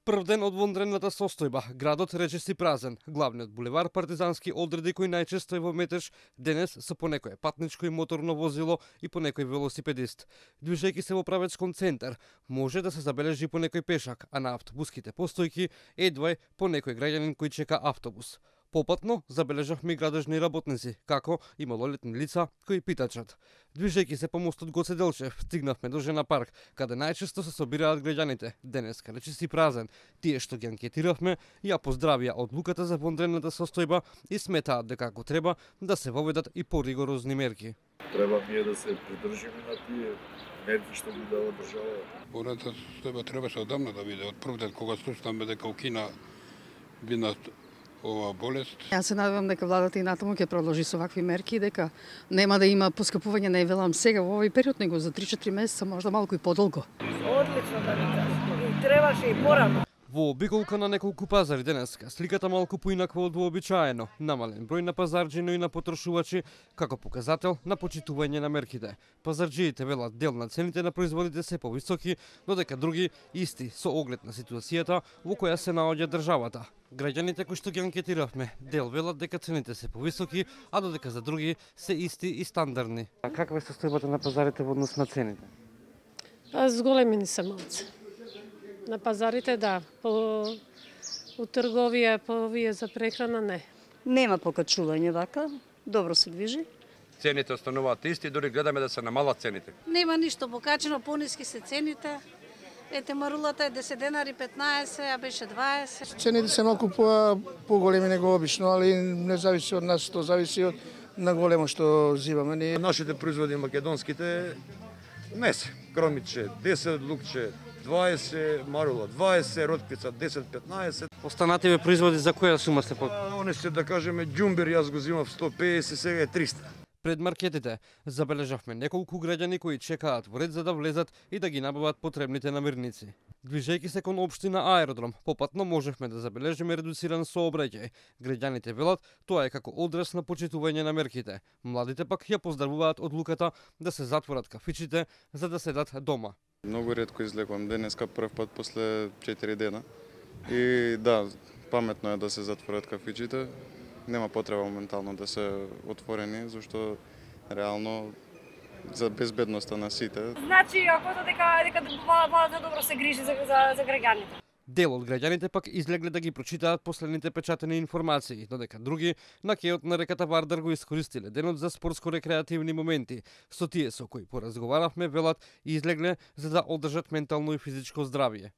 Прв ден од вонредната состојба, градот речиси празен. Главниот булевар Партизански одреди кој најчесто е во метеж, денес со по некое патничко и моторно возило и по некој велосипедист. Движејќи се во правец кон центар, може да се забележи по некој пешак, а на автобуските постојки едва по некој граѓанин кој чека автобус. Попатно забележавме и градежни работници, како и малолетни лица кои питачат. Движејќи се по мостот Гоце Делчев, стигнавме до Жена парк, каде најчесто се собираат граѓаните. Денеска речиси празен. Тие што ги анкетиравме ја поздравија одлуката за вонредната состојба и сметаат дека ако треба да се воведат и поригорозни мерки. Треба ние да се придржиме на тие мерки што ги дава држава. Вонредната состојба требаше одамна да биде. Од прв ден кога слушнаме дека укина бина ова болест. Јас се надевам дека владата и натаму ќе продолжи со вакви мерки, дека нема да има поскапување, не велам сега во овој период, него за 3-4 месеца, можда малку и подолго. Одлично да ви кажам. Требаше и порано. Во обиколка на неколку пазари денеска, сликата малку поинаква од вообичаено. Намален број на пазарџи, но и на потрошувачи, како показател на почитување на мерките. Пазарџиите велат дел на цените на производите се повисоки, додека други исти со оглед на ситуацијата во која се наоѓа државата. Граѓаните кои што ги анкетиравме, дел велат дека цените се повисоки, а додека за други се исти и стандардни. А каква е состојбата на пазарите во однос на цените? Зголемени се малце. На пазарите да, у трговија, по овие за прехрана не. Нема покачување вака, добро се движи. Цените остануваат исти, дури гледаме да се намалат цените. Нема ништо покачено, пониски се цените. Ете марулата е 10 денари 15, а беше 20. Цените се малку поголеми него обично, али не зависи од нас, тоа зависи од на големо што зимаме. Нашите производи македонските не се. Кромиче 10, лукче 20, марула 20, ротквица 10-15. Останативе производи за која сума се под? Они се, да кажеме, џумбер, јас го зимав 150, сега е 300. Пред маркетите забележавме неколку граѓани кои чекаат во ред за да влезат и да ги набават потребните намирници. Движејќи се кон општина Аеродром, попатно можевме да забележиме редуциран сообраќај. Граѓаните велат тоа е како одраз на почитување на мерките. Младите пак ја поздравуваат одлуката да се затворат кафичите за да седат дома. Многу ретко излекувам денеска прв пат после 4 дена. И да, паметно е да се затворат кафичите. Нема потреба моментално да се отворени, зашто реално за безбедноста на сите. Значи, ако дека владата добро се грижи за граѓаните. Дел од граѓаните пак излегле да ги прочитаат последните печатени информации, додека други на кејот на реката Вардар го искористиле денот за спортско-рекреативни моменти. Со тие со кои поразговаравме велат излегле за да одржат ментално и физичко здравје.